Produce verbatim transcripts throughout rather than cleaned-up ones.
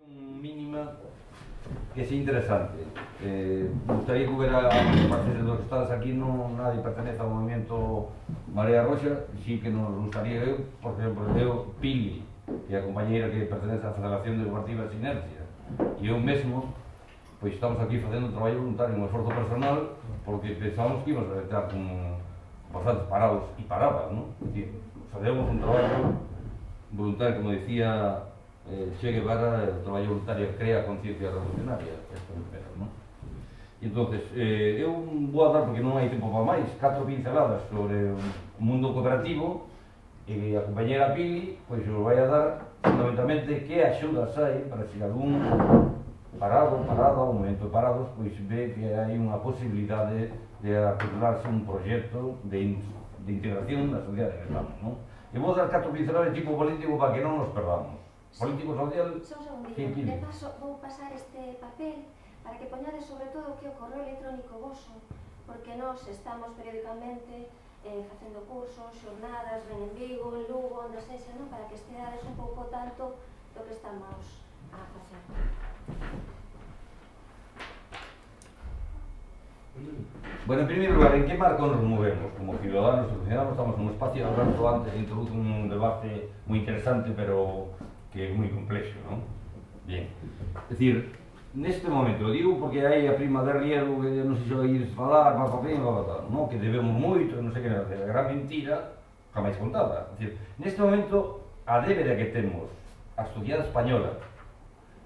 Mínima que es interesante. Eh, me gustaría que hubiera, aparte de los que estás aquí, no nadie pertenece ao movimento Marea Roxa, sí que nos gustaría eu, por exemplo, eu, Pili, que é a compañeira que pertenece á Federación de Cooperativas Sinergia, e eu mesmo, pois estamos aquí facendo un traballo voluntario, un esforzo personal, porque pensamos que íbamos a estar con bastantes parados e paradas, non? É dicir, facemos un traballo voluntario, como decía Eh, Che Guevara, el traballo voluntario crea conciencia revolucionaria, isto é primero, non? E entonces, eh, eu vou a dar, porque non hai tempo para máis, catro pinceladas sobre o mundo cooperativo, e a compañera Pili, pois os vai a dar fundamentalmente que axudas hai para se algún parado, parada, ou momento de parados, pois ve que hai unha posibilidade de articularse un proxecto de, de integración na sociedade que estamos, non? E vou dar catro pinceladas de tipo político para que non nos perdamos. Político social... Só un segundinho, de paso vou pasar este papel para que poñades sobre todo que o correo electrónico voso, porque nós estamos periódicamente eh, facendo cursos, xornadas, ven en Vigo, en Lugo, onde sexa, non? Para que esteades un pouco tanto do que estamos a facer. Bueno, en primer lugar, en que marco nos movemos? Como ciudadanos e ciudadanos estamos nun espacio, Alberto antes introduce un debate moi interesante, pero que é moi complexo, non? Bien, é dicir, neste momento, digo porque hai a prima de riesgo que non sei se oídes falar, pa pa pa pa pa, non? Que debemos moito, non sei que, a gran mentira, jamás contada. É dicir, neste momento, a débeda que temos a sociedade española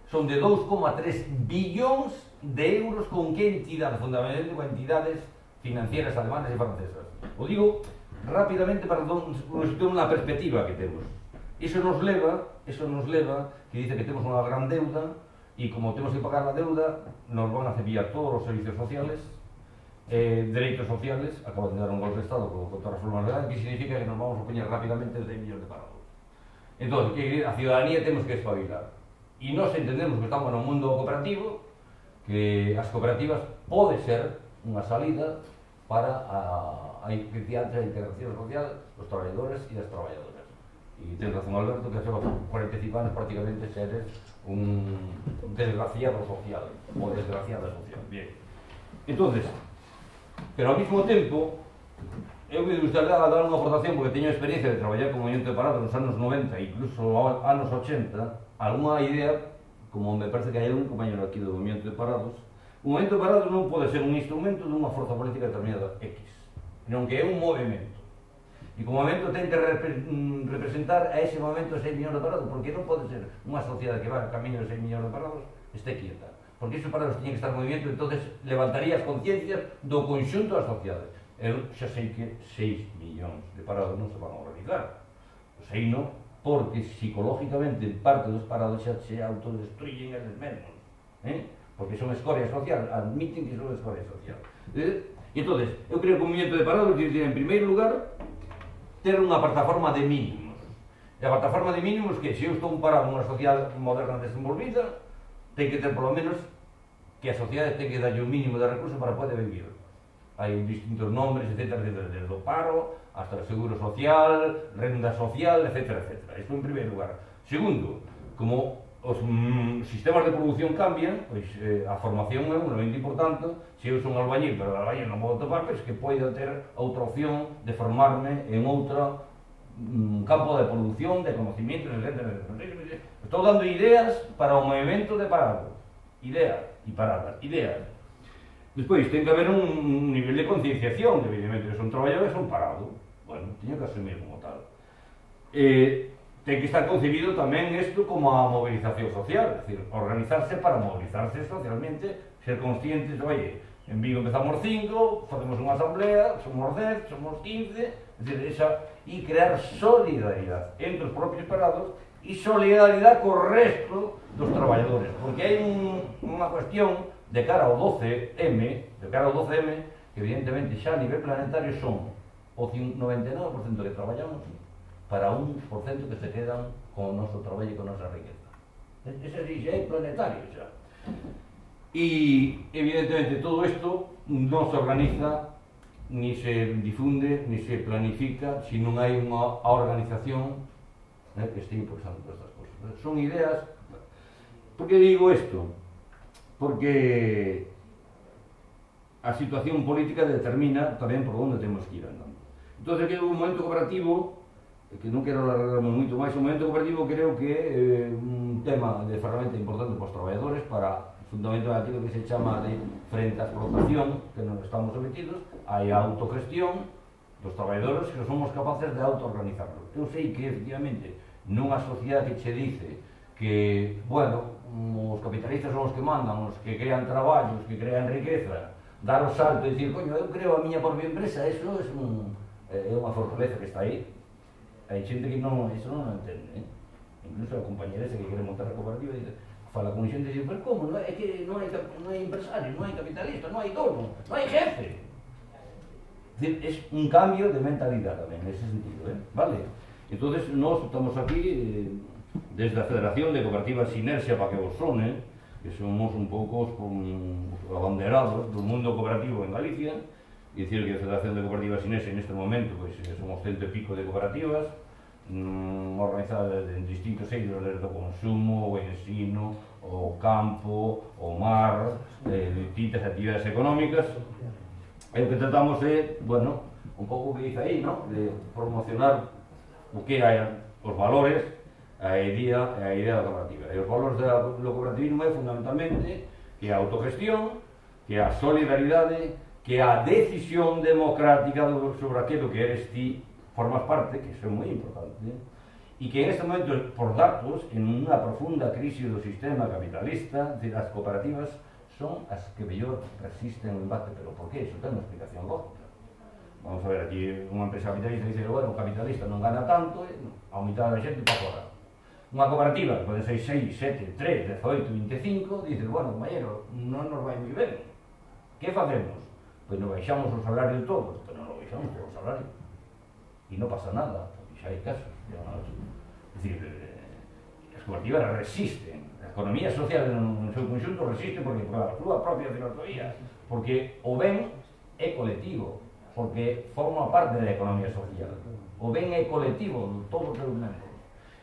son de dous coma tres billóns de euros con que entidades, fundamentalmente con entidades financieras alemanas e francesas. O digo rapidamente para nos situar unha perspectiva que temos. Iso nos leva, iso nos leva, que dice que temos unha gran deuda, e como temos que pagar a deuda, nos van a cepillar todos os servicios sociales, eh, dereitos sociales, acaban de dar un golpe de Estado con, con todas as reformas legales, que significa que nos vamos a poñer rápidamente seis millóns de parados. Entón, que a ciudadanía temos que espabilar. E nós entendemos que estamos no mundo cooperativo, que as cooperativas pode ser unha salida para a, a integración social dos traballadores e das traballadoras. E ten razón Alberto que hace cuarenta e cinco anos prácticamente seres un desgraciado social, ou desgraciada social. Bien. Entonces, pero ao mesmo tempo, eu me gustaría dar unha aportación, porque teño experiencia de traballar como movimento de parados nos anos noventa e incluso anos ochenta, alguna idea, como me parece que hai un compañero aquí do movimento de parados. O movimento de parados non pode ser un instrumento dunha forza política determinada X, non que é un movimento. E como momento ten que repre representar a ese momento seis millóns de parados, porque non pode ser unha sociedade que va a camiño de seis millóns de parados este quieta, porque esos parados teñen que estar en movimento, entonces levantaría as conciencias do conxunto da sociedade. Eu xa sei que seis millóns de parados non se van a organizar, o sei non, porque psicológicamente parte dos parados xa se autodestruyen eles mesmos, eh? Porque son escoria social, admiten que son escoria social. Eh? E entón, eu creo que o movimento de parados tiene, en primeiro lugar, ter unha plataforma de mínimos. E a plataforma de mínimos que, se eu estou parado nunha sociedade moderna desenvolvida, ten que ter, polo menos, que a sociedade ten que darlle un mínimo de recursos para poder vivir. Hai distintos nombres, etcétera, etcétera, desde o paro, hasta o seguro social, renda social, etcétera, etcétera. Isto en primeiro lugar. Segundo, como os mm, sistemas de produción cambian, pois eh, a formación é un elemento importante. Se eu son albañil, pero albañil non vou topar, pois que poida ter outra opción de formarme en outro mm, campo de produción, de conocimientos, etcétera. Estou dando ideas para o movimento de parado. Ideas e paradas, ideas. Despois, ten que haber un, un nivel de concienciación, evidentemente, que son traballadores, son parados. Bueno, teño que asumir como tal. Eh, ten que estar concebido tamén isto como a movilización social, é dicir, organizarse para movilizarse socialmente, ser conscientes, oye, en Vigo empezamos cinco, facemos unha asamblea, somos dez, somos quince, é dicir, esa, e crear solidaridade entre os propios parados e solidaridade co resto dos traballadores, porque hai un, unha cuestión de cara ao doce eme, de cara ao doce eme, que evidentemente xa a nivel planetario son o noventa e nove por cento que traballamos para un por cento que se quedan con o noso traballo e con a nosa riqueza. Ese sí, xa é planetario xa. E, evidentemente, todo isto non se organiza, ni se difunde, ni se planifica, se non hai unha organización eh, que este impulsando todas estas cosas. Son ideas Por que digo isto? Porque a situación política determina tamén por onde temos que ir andando. Entón, que o momento cooperativo, que non quero alargarme moito máis, o momento cooperativo creo que é eh, un tema de ferramenta importante para os traballadores para fundamentar aquilo que se chama de frente á explotación que nos estamos sometidos, hai a autogestión dos traballadores que somos capaces de autoorganizarlos. Eu sei que, efectivamente, nunha sociedade que che dice que, bueno, os capitalistas son os que mandan, os que crean traballos, que crean riqueza, dar o salto e dicir, coño, eu creo a miña propia empresa, eso é, un, é unha fortaleza que está aí. Hai xente que non, eso non entende, eh? Incluso a compañera esa que quere montar a cooperativa dice, fala con xente e dice, pero como, non é que non hai, non hai empresario, non hai capitalista, non hai dono, non hai jefe. É un cambio de mentalidade tamén, nese sentido, eh? Vale? Entón, nós estamos aquí eh, desde a Federación de Cooperativas Sinerxia, para que vos sone, que somos un pouco os, os abanderados do mundo cooperativo en Galicia, e dicir que a Federación de Cooperativas Sinerxia neste momento pois, somos cento e pico de cooperativas mmm, organizadas en distintos eidos, desde o consumo, o ensino, o campo, o mar, eh, distintas actividades económicas. E o que tratamos é, bueno, un pouco o que dice aí, ¿no? De promocionar o que hai, os valores, a idea, a idea da cooperativa. E os valores do cooperativismo é fundamentalmente que a autogestión, que a solidaridade, que a decisión democrática sobre aquilo que eres ti, formas parte, que iso é moi importante, e que en este momento, por datos, en unha profunda crise do sistema capitalista, as cooperativas son as que mellor resisten o embate. Pero por que? Iso ten unha explicación lógica. Vamos a ver, aquí unha empresa capitalista dice, bueno, o capitalista non gana tanto, a mitad da xente para fora. Unha cooperativa, que pode ser seis, sete, tres, dezoito, veinticinco, dice, bueno, compañero, non nos vai moi ben. Que facemos? Pois nos baixamos o salario de todos, pero non nos baixamos o salario. E non pasa nada, porque xa hai casos. É dicir, as cooperativas resisten. A economía social no seu conxunto resiste porque por a súa propia filosofía, porque o ben é colectivo, porque forma parte da economía social. O ben é colectivo de todos os seus membros.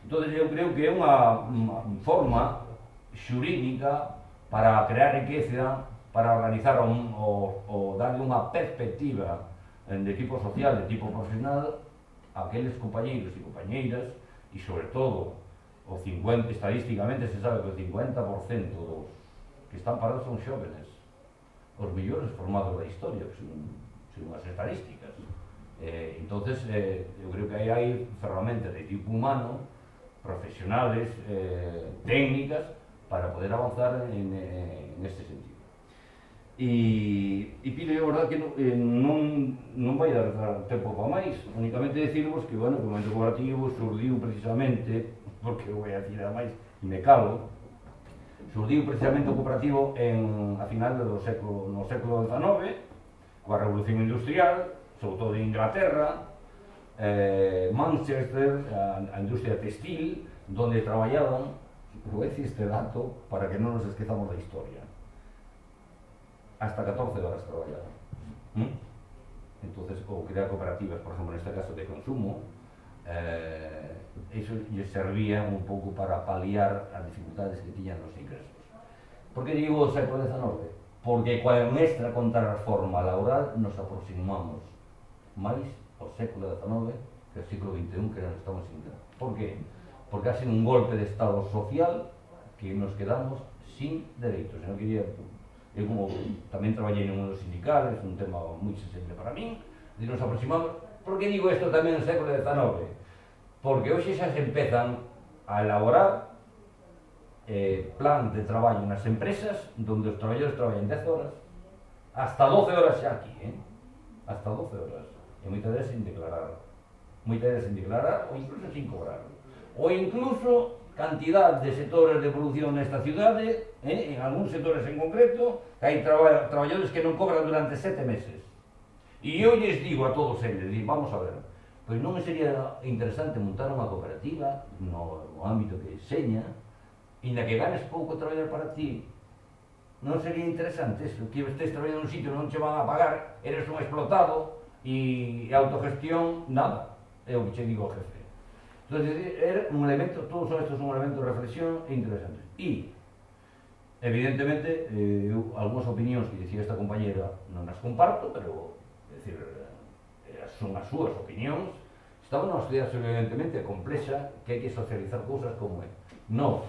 Entón, eu creo que é unha, unha forma xurídica para crear riqueza, para organizar un, o, o darle unha perspectiva de equipo social, de tipo profesional, a aqueles compañeiros e compañeiras, e sobre todo, o cincuenta, estadísticamente se sabe que o cincuenta por cento dos que están parados son xóvenes, os millores formados da historia, que son, son as estadísticas. Eh, entonces, eh, eu creo que aí hai ferramentas de tipo humano, profesionales, eh, técnicas, para poder avanzar en, en este sentido. E, e Pino, é verdad que non, eh, non, non vai dar tempo para máis, únicamente decirvos que, bueno, que o momento cooperativo surdiu precisamente, porque eu vou a decir a máis, e me calo, surdiu precisamente o cooperativo en, a final do século, no século dezenove, coa Revolución Industrial, sobre todo de Inglaterra, Eh, Manchester, a, a industria textil, donde traballaban, vou dicir este dato para que non nos esquezamos da historia, hasta catorce horas traballaban. ¿Mm? Entonces, ou crear cooperativas, por exemplo, neste caso de consumo, eh, eso lle servía un pouco para paliar as dificultades que tiñan os ingresos. Por que digo o século dezenove? Porque coa nuestra contrarreforma laboral nos aproximamos máis ao século dezenove que ao século vinte e un que nos estamos intentando. Por que? Porque ha sido un golpe de estado social que nos quedamos sin dereitos. Eu quería, eu como tamén traballei no mundo sindical, é un tema moi sensible para min, e nos aproximamos. Por que digo isto tamén no século dezenove? Porque hoxe xa se empezan a elaborar eh, plans de traballo nas empresas donde os traballadores traballan dez horas, hasta doce horas xa aquí, eh? Hasta doce horas. E moitas veces sin declarar, moitas veces sin declarar ou incluso sin cobrar, ou incluso cantidad de sectores de producción nesta cidade, eh, en algúns sectores en concreto, que hai traba traballadores que non cobran durante sete meses. E eu lles digo a todos eles, digo, vamos a ver, pois non sería interesante montar unha cooperativa no, no ámbito que seña, e na que ganes pouco traballar para ti. Non sería interesante eso, que estés traballando nun sitio non che van a pagar, eres un explotado, e autogestión, nada, é o que che digo ao jefe. Entón, era un elemento, todos estes son elementos de reflexión interesantes. E evidentemente, eh, eu, algunhas opinións que dicía esta compañera non as comparto, pero, é dicir, eh, son as súas opinións. Estamos nunha sociedade evidentemente complexa que hai que socializar cousas como é. No,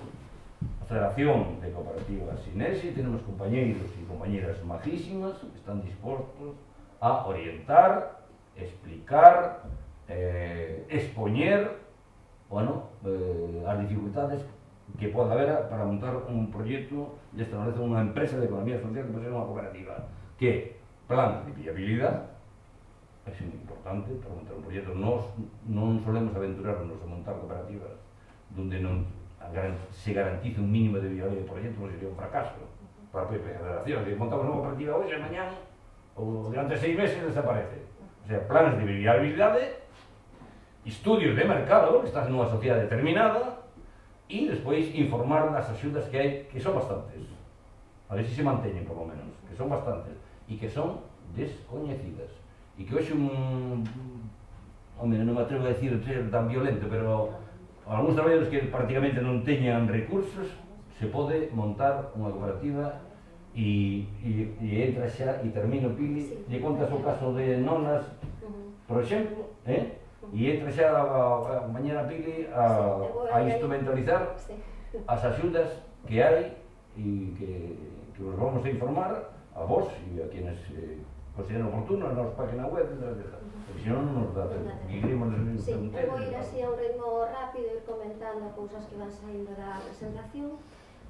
a Federación de Cooperativas Sinesi tenemos compañeiros e compañeras majísimas que están dispostos a orientar, explicar, eh, expoñer, bueno, eh, as dificultades que pode haber para montar un proxecto de esta naturaleza, unha empresa de economía social que pode ser unha cooperativa, que plan de viabilidade é moi importante para montar un proxecto. Nos non solemos aventurarnos a montar cooperativas donde non se garantice un mínimo de viabilidade de proxecto, non sería un fracaso para a propia federación. Se montamos unha cooperativa hoxe, mañana ou durante seis meses desaparece. O sea, planes de viabilidade, estudios de mercado, que estás nunha sociedade determinada, e despois informar das axudas que hai, que son bastantes, a ver se se manteñen por lo menos, que son bastantes e que son descoñecidas, e que hoxe un, home, non me atrevo a decir ser tan violento, pero algúns traballadores que prácticamente non teñan recursos, se pode montar unha cooperativa e, e, e entra xa e termina o Pili, sí. Lle contas o caso de Nonas, por exemplo, eh? E entra xa a compañera Pili a, a instrumentalizar as axudas que hai e que, que os vamos a informar a vos e a quienes eh, consideren oportuno na nosa página web, etcétera. Porque senón non nos dá tempo. Sí, eu vou ir así a un ritmo rápido, ir comentando cousas que van saindo da presentación.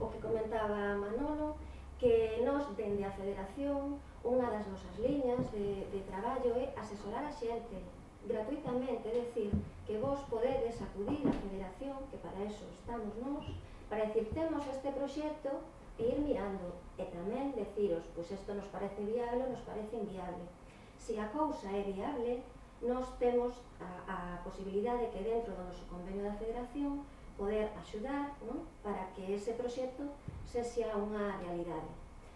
O que comentaba Manolo, que nos, dende a Federación, unha das nosas liñas de, de traballo é asesorar a xente gratuitamente, é dicir, que vos podedes acudir á Federación, que para eso estamos nós, para decir, temos este proxecto e ir mirando, e tamén deciros, pois isto nos parece viable ou nos parece inviable. Se a cousa é viable, nós temos a, a posibilidade que dentro do noso convenio da Federación poder axudar, non? Para que ese proxecto sexa unha realidade.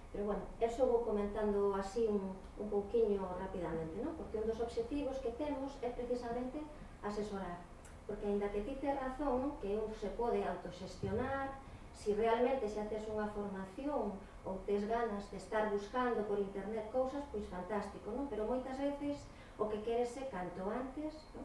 Pero, bueno, eso vou comentando así un, un pouquiño rapidamente, non? Porque un dos obxectivos que temos é precisamente asesorar. Porque, ainda que ti tes razón, non? Que un se pode autoxestionar, si realmente xa tes unha formación ou tes ganas de estar buscando por internet cousas, pois fantástico, non? Pero moitas veces o que queres é canto antes, non?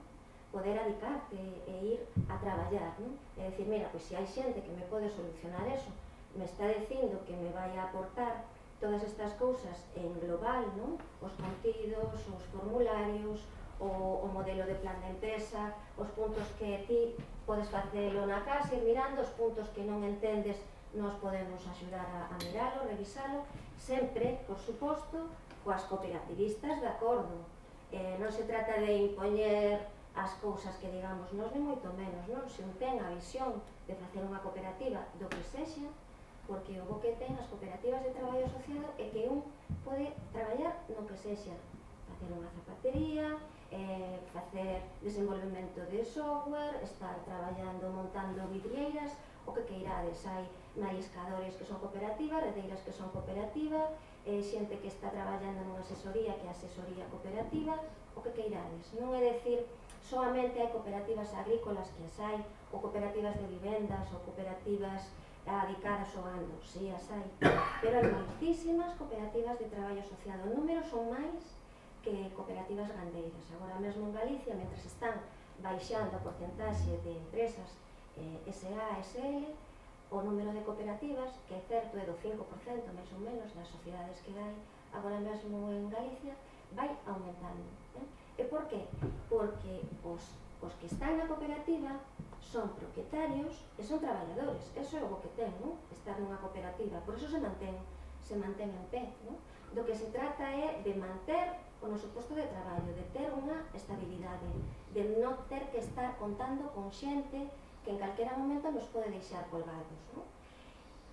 Poder adicarte e ir a traballar, non? É dicir, mira, pois se hai xente que me pode solucionar eso, me está dicindo que me vai a aportar todas estas cousas en global, non? Os contidos, os formularios, o, o modelo de plan de empresa, os puntos que ti podes facelo na casa, ir mirando, os puntos que non entendes, nos podemos axudar a, a miralo, revisalo, sempre, por suposto, coas cooperativistas de acordo. Eh, non se trata de impoñer as cousas que digamos nós, ni moito menos, non? Se un ten a visión de facer unha cooperativa do que sexa, porque o bo que ten as cooperativas de traballo asociado é que un pode traballar no que sexa, facer unha zapatería, eh, facer desenvolvemento de software, estar traballando montando vidrieiras, o que queirades. Hai mariscadores que son cooperativas, redeiras que son cooperativas, eh, xente que está traballando nunha asesoría que é asesoría cooperativa, o que queirades. Non é decir solamente hai cooperativas agrícolas que as hai, ou cooperativas de vivendas, ou cooperativas adicadas ao gando, si as hai, pero hai moitísimas cooperativas de traballo asociado. O número son máis que cooperativas gandeiras. Agora mesmo en Galicia, mentre están baixando a porcentaxe de empresas eh, S A, S L, o número de cooperativas, que é certo é do cinco por cento, máis ou menos, das sociedades que hai agora mesmo en Galicia, vai aumentando. Eh? E por qué? Porque os, os que están na cooperativa son propietarios e son traballadores. Eso é o que ten, non? Estar nunha cooperativa. Por eso se mantén, se mantén en pé, non? Do que se trata é de manter o noso posto de traballo, de ter unha estabilidade, de non ter que estar contando con xente que en calquera momento nos pode deixar colgados, non?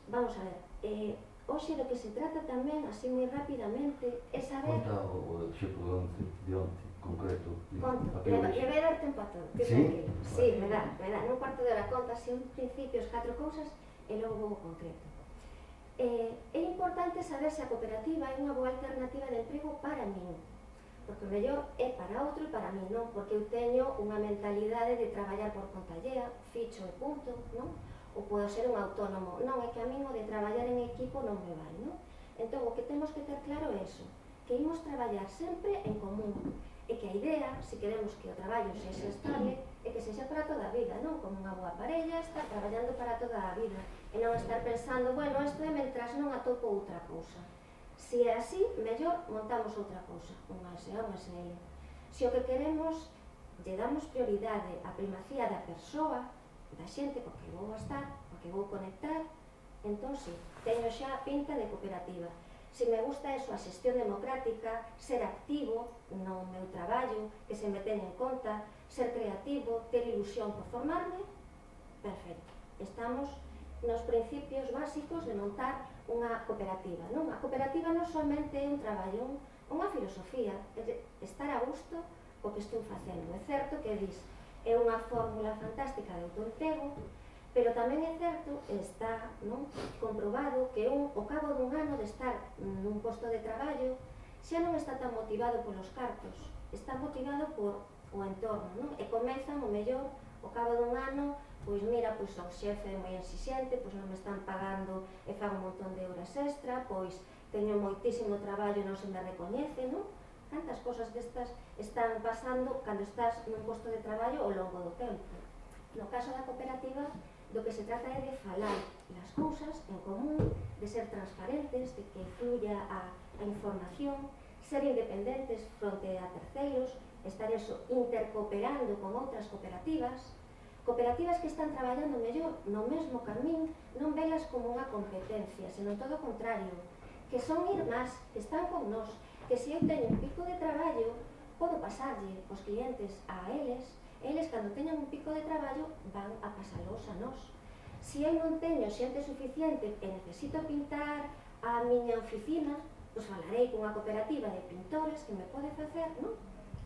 Vamos a ver, eh, hoxe do que se trata tamén, así moi rapidamente, é saber... Conta o exemplo de onte, concreto. Conto, le vai dar tempo a todo, que tranquilo. Sí, me dá, me dá, nun cuarto de hora conta así un principio, as catro cousas, e logo vou concreto. Eh, é importante saber se a cooperativa é unha boa alternativa de emprego para min, porque o mellor é para outro e para min non, porque eu teño unha mentalidade de traballar por conta allea, ficho e punto, non? ou podo ser un autónomo. Non, é que a min o de traballar en equipo non me vai, non? Entón, o que temos que ter claro é iso, que imos traballar sempre en común, e que a idea, se queremos que o traballo sexa estable, é que sexa para toda a vida, non? Como unha boa parella, estar traballando para toda a vida, e non estar pensando, bueno, isto é mentras non atopo outra cousa. Se é así, mellor montamos outra cousa, unha S A, unha S L. Se o que queremos, lle damos prioridade á primacía da persoa, da xente co que vou estar, co que vou conectar, entón, sí, teño xa pinta de cooperativa. Se me gusta eso, a xestión democrática, ser activo no meu traballo, que se me teña en conta, ser creativo, ter ilusión por formarme, perfecto. Estamos nos principios básicos de montar unha cooperativa, non? A cooperativa non somente é un traballo, unha filosofía, é estar a gusto co que estou facendo. É certo que dis, é unha fórmula fantástica de autoemprego, pero tamén é certo, está non, comprobado que un, ao cabo dun ano de estar nun posto de traballo xa non está tan motivado polos cartos, está motivado por o entorno, non? E comezan o mellor ao cabo dun ano, pois mira, pois o xefe é moi exixente, pois non me están pagando e fago un montón de horas extra, pois teño moitísimo traballo e non se me recoñece, non? Cantas cosas destas están pasando cando estás nun posto de traballo ao longo do tempo. No caso da cooperativa, do que se trata é de falar as cousas en común, de ser transparentes, de que fluya a, a información, ser independentes fronte a terceiros, estar eso intercooperando con outras cooperativas, cooperativas que están traballando mellor no mesmo camín, non velas como unha competencia, senón todo o contrario, que son irmás, que están con nós, que se eu teño un pico de traballo, podo pasarlle os clientes a eles, eles, cando teñan un pico de traballo, van a pasalos a nós. Se eu non teño xente suficiente e necesito pintar a miña oficina, pois falarei cunha cooperativa de pintores que me pode facer, non?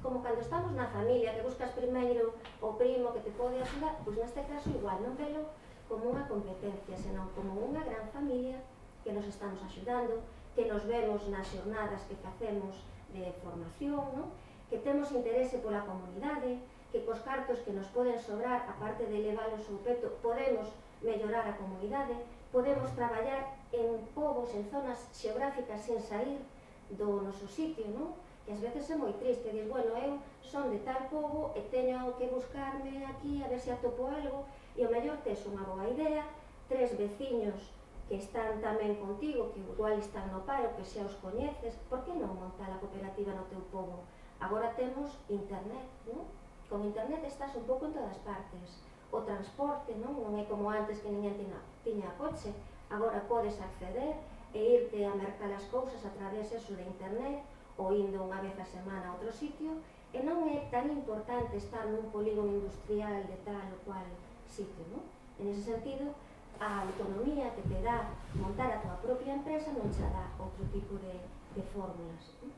Como cando estamos na familia, que buscas primeiro o primo que te pode axudar, pois neste caso igual, non velo como unha competencia, senón como unha gran familia que nos estamos axudando, que nos vemos nas xornadas que facemos de formación, non? Que temos interese pola comunidade, que cos cartos que nos poden sobrar, aparte de leválos ao peto, podemos mellorar a comunidade, podemos traballar en povos, en zonas xeográficas sen sair do noso sitio, non? Que ás veces é moi triste, dis, bueno, eu son de tal pobo e teño que buscarme aquí a ver se atopo algo, e o mellor tes unha boa idea, tres veciños que están tamén contigo, que igual están no paro, que xa os coñeces, por que non montar a cooperativa no teu pobo? Agora temos internet, non? Con internet estás un pouco en todas partes. O transporte, non? Non é como antes que ninguén tiña, tiña coche. Agora podes acceder e irte a mercar as cousas a través eso de internet ou indo unha vez a semana a outro sitio, e non é tan importante estar nun polígono industrial de tal ou cual sitio, non? En ese sentido, a autonomía que te dá montar a tua propia empresa non xa dá outro tipo de, de fórmulas, non?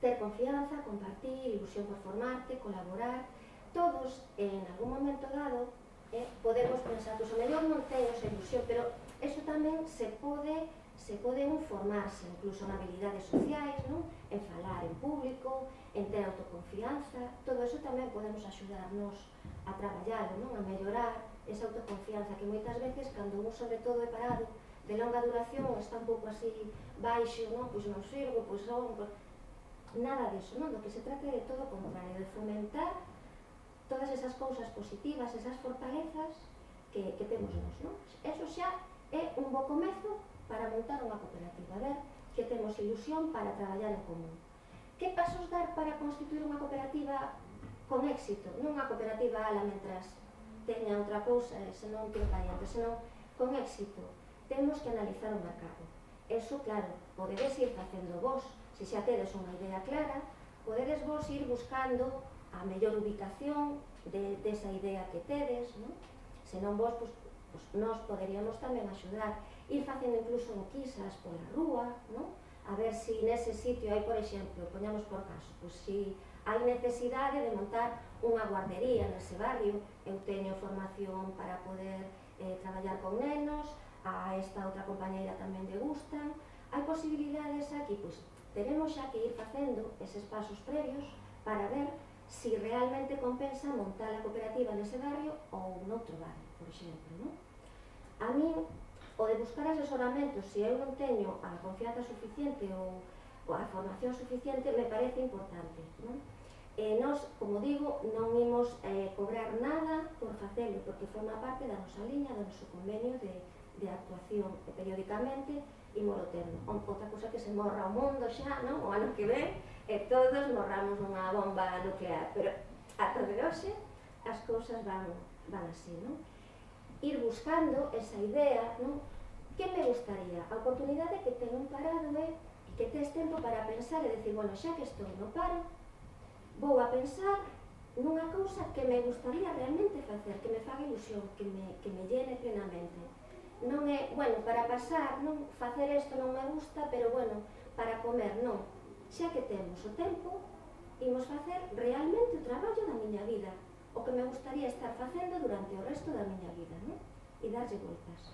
Ter confianza, compartir, ilusión por formarte, colaborar, todos en algún momento dado eh, podemos pensar, pois o mellor non teño esa ilusión, pero eso tamén se pode, se pode un formarse, incluso en habilidades sociais, non? En falar en público, en ter autoconfianza, todo eso tamén podemos axudarnos a traballar, non? A mellorar esa autoconfianza que moitas veces, cando un sobre todo é parado, de longa duración, está un pouco así baixo, non? Pois non sirvo, pois non... Nada disso, non? Do que se trata é de todo o contrario, de fomentar todas esas cousas positivas, esas fortalezas que, que temos nós, non? Eso xa é un bo comezo para montar unha cooperativa, a ver que temos ilusión para traballar en común. Que pasos dar para constituir unha cooperativa con éxito? Non unha cooperativa ala mentras teña outra cousa e senón que variante, senón con éxito. Temos que analizar o mercado. Eso, claro, podedes ir facendo vos. Se xa tedes unha idea clara, podedes vos ir buscando a mellor ubicación de, desa idea que tedes, non? Se non vos, pues, pues, nós poderíamos tamén axudar, ir facendo incluso enquisas pola rúa, non? A ver se nese sitio hai, por exemplo, poñamos por caso, pues, se hai necesidade de montar unha guardería nese barrio, eu teño formación para poder eh, traballar con nenos, a esta outra compañeira tamén lle gustan, hai posibilidades aquí, pois, tenemos xa que ir facendo eses pasos previos para ver si realmente compensa montar a cooperativa nese barrio ou noutro barrio. por exemplo, non? A mí, o de buscar asesoramento, se eu non teño a confianza suficiente ou, ou a formación suficiente, me parece importante, non? E nós, como digo, non imos eh, cobrar nada por facelo, porque forma parte da nosa liña, do noso convenio de, de actuación, e periódicamente imolo tendo. Outra cosa que se morra o mundo xa, non? O ano que ven, e todos morramos nunha bomba nuclear, pero ata de hoxe as cousas van, van así, non? Ir buscando esa idea, non? Que me gustaría? A oportunidade que ten un parado é que tes tempo para pensar e decir, bueno, xa que estou no paro, vou a pensar nunha cousa que me gustaría realmente facer, que me faga ilusión, que me, que me llene plenamente. Non é, bueno, para pasar, non, facer isto non me gusta, pero bueno, para comer, non. Xa que temos o tempo, imos facer realmente o traballo da miña vida, o que me gustaría estar facendo durante o resto da miña vida, non? E darlle voltas.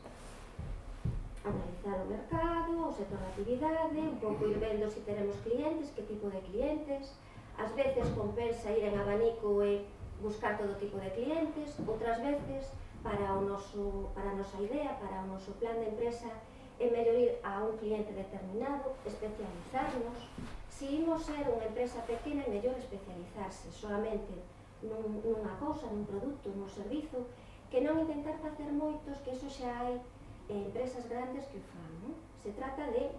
Analizar o mercado, o sector de actividade, un pouco ir vendo se teremos clientes, que tipo de clientes. Ás veces compensa ir en abanico e buscar todo tipo de clientes, outras veces, para, o noso, para a nosa idea, para o noso plan de empresa, é mellor ir a un cliente determinado, especializarnos. Se imos ser unha empresa pequena, é mellor especializarse solamente nun, nunha cousa, nun produto, nun servizo, que non intentar facer moitos, que eso xa hai empresas grandes que o fan, non? Se trata de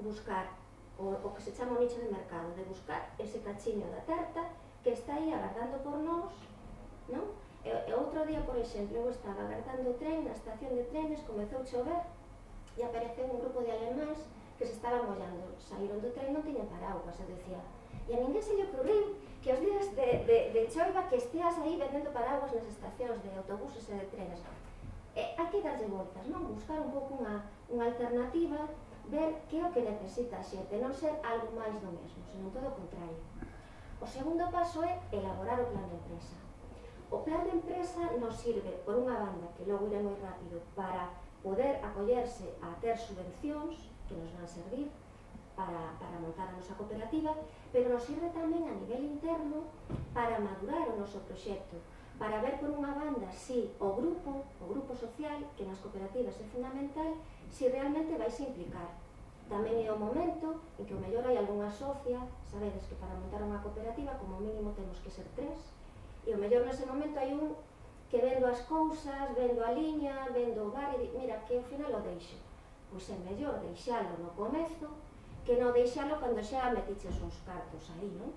buscar o, o que se chama o nicho de mercado, de buscar ese cachiño da tarta que está aí agardando por nós, non? E, e outro día, por exemplo, eu estaba agardando o tren na estación de trenes, comezou a chover e apareceu un grupo de alemáns que se estaban mollando, saíron do tren, non tiñan paraugas, e decía, e a ninguén se lle ocurriu que os días de, de, de choiva que esteas aí vendendo paraugas nas estacións de autobuses e de trenes. E hai que darlle voltas, non? Buscar un pouco unha, unha alternativa, ver que é o que necesita a xente, non ser algo máis do mesmo, senón todo o contrario. O segundo paso é elaborar o plan de empresa. O plan de empresa nos sirve, por unha banda, que logo iré moi rápido, para poder acollerse a ter subvencións que nos van servir para, para montar a nosa cooperativa, pero nos sirve tamén a nivel interno para madurar o noso proxecto, para ver por unha banda si o grupo, o grupo social, que nas cooperativas é fundamental, si realmente vais a implicar. Tamén é o momento en que o mellor hai algunha socia, sabedes que para montar unha cooperativa como mínimo temos que ser tres, e o mellor nese momento hai un que vendo as cousas, vendo a liña, vendo o bar e di, mira, que ao final o deixo. Pois é mellor deixalo no comezo que non deixalo cando xa metiches uns cartos aí, non?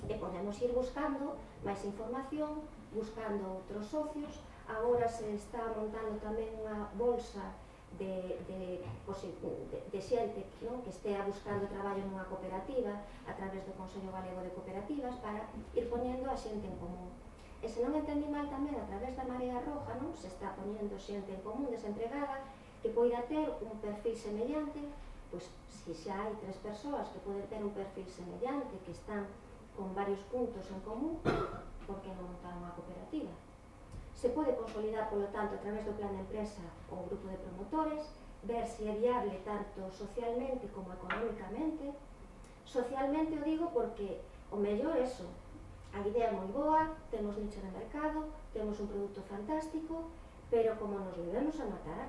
E podemos ir buscando máis información, buscando outros socios. Agora se está montando tamén unha bolsa de, de, de, de xente, non? Que estea buscando traballo nunha cooperativa a través do Consello Galego de Cooperativas para ir poñendo a xente en común. E se non entendi mal tamén, a través da Marea Roja, non? Se está poñendo xente en común, desempregada, que poida ter un perfil semellante, pois se xa hai tres persoas que poden ter un perfil semellante, que están con varios puntos en común, por que non montar unha cooperativa? Se pode consolidar, polo tanto, a través do plan de empresa o grupo de promotores, ver se é viable tanto socialmente como económicamente. Socialmente o digo porque o mellor é eso, a idea é moi boa, temos nicho de mercado, temos un produto fantástico, pero como nos debemos a matar,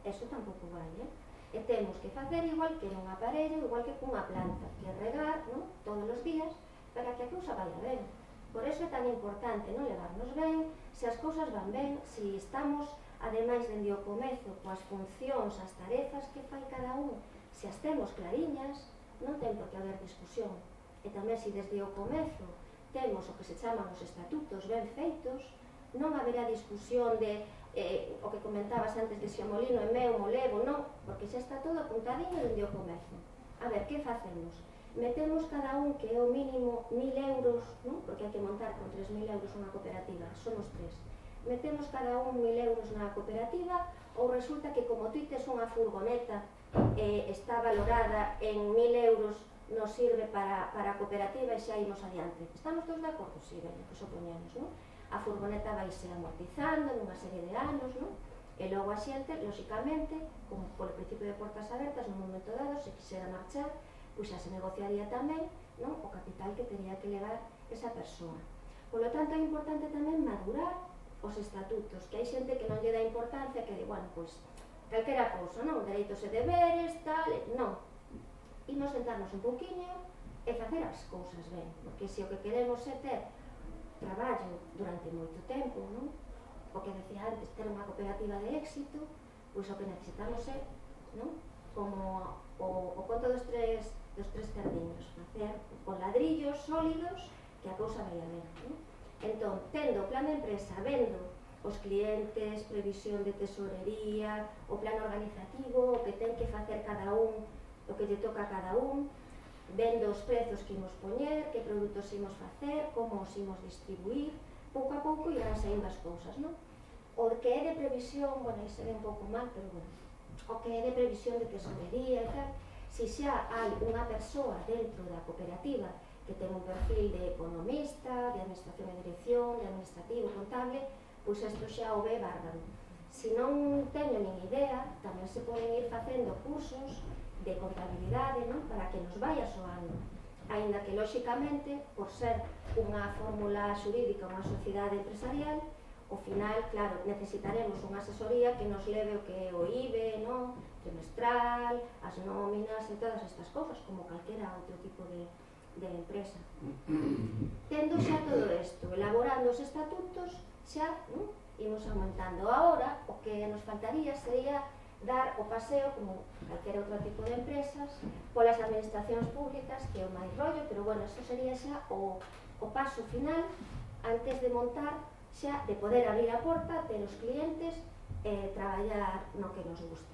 eso tampouco vai, eh? E temos que facer igual que un aparello, igual que cunha planta, que regar, non? Todos os días, para que a cousa vaya ben. Por eso é tan importante non levarnos ben, se as cousas van ben, se estamos, ademais, dende o comezo, coas funcións, as tarefas que fai cada un, se as temos clariñas, non ten por que haber discusión. E tamén se desde o comezo temos o que se chaman os estatutos ben feitos, non haberá discusión de eh, o que comentabas antes de se o molino é meu, mo levo, non, porque xa está todo apuntadinho dende o comezo. A ver, que facemos? Metemos cada un que é o mínimo mil euros, non? Porque hai que montar con tres mil euros unha cooperativa, somos tres. Metemos cada un mil euros na cooperativa, ou resulta que como tú tes unha furgoneta eh, está valorada en mil euros, nos sirve para, para a cooperativa e xa imos adiante. Estamos todos de acordo? Sí, ben, que sopoñemos, non? A furgoneta vai ser amortizando nunha serie de anos, non? E logo a xente, lóxicamente, como polo principio de portas abertas, nun momento dado, se quixera marchar, pois xa se negociaría tamén, non? O capital que teria que levar esa persoa. Por lo tanto, é importante tamén madurar os estatutos, que hai xente que non lle dá importancia, que di, bueno, pois, calquera cousa, non? Dereitos e deberes, tal, non. Imos sentarnos un pouquiño e facer as cousas ben, porque se o que queremos é ter traballo durante moito tempo, non? O que decía antes, ter unha cooperativa de éxito, pois o que necesitamos é, non? Como o, o conto dos tres, dos tres cerdiños, facer con ladrillos sólidos que a cousa vai a ben, non? Entón, tendo o plan de empresa, vendo os clientes, previsión de tesorería, o plan organizativo, o que ten que facer cada un, o que lle toca a cada un, vendo os prezos que imos poñer, que produtos imos facer, como os imos distribuir, pouco a pouco irán saindo as cousas, non? O que é de previsión, bueno, aí se ve un pouco mal, pero bueno, o que é de previsión de tesorería e tal, se xa hai unha persoa dentro da cooperativa que ten un perfil de economista, de administración e dirección, de administrativo, contable, pois isto xa o ve bárbaro. Se non teño nin idea, tamén se poden ir facendo cursos de contabilidade, non? Para que nos vaya soando. Aínda que, lóxicamente, por ser unha fórmula xurídica, unha sociedade empresarial, ao final, claro, necesitaremos unha asesoría que nos leve o que é o I B E, non? Trimestral, as nóminas e todas estas cousas, como calquera outro tipo de, de empresa. Tendo xa todo isto, elaborando os estatutos, xa, non? Imos aumentando. Ahora, o que nos faltaría sería dar o paseo, como calquera outro tipo de empresas, polas administracións públicas, que é o máis rollo, pero bueno, eso sería xa o, o paso final antes de montar, xa de poder abrir a porta, ter os clientes e traballar no que nos gusta.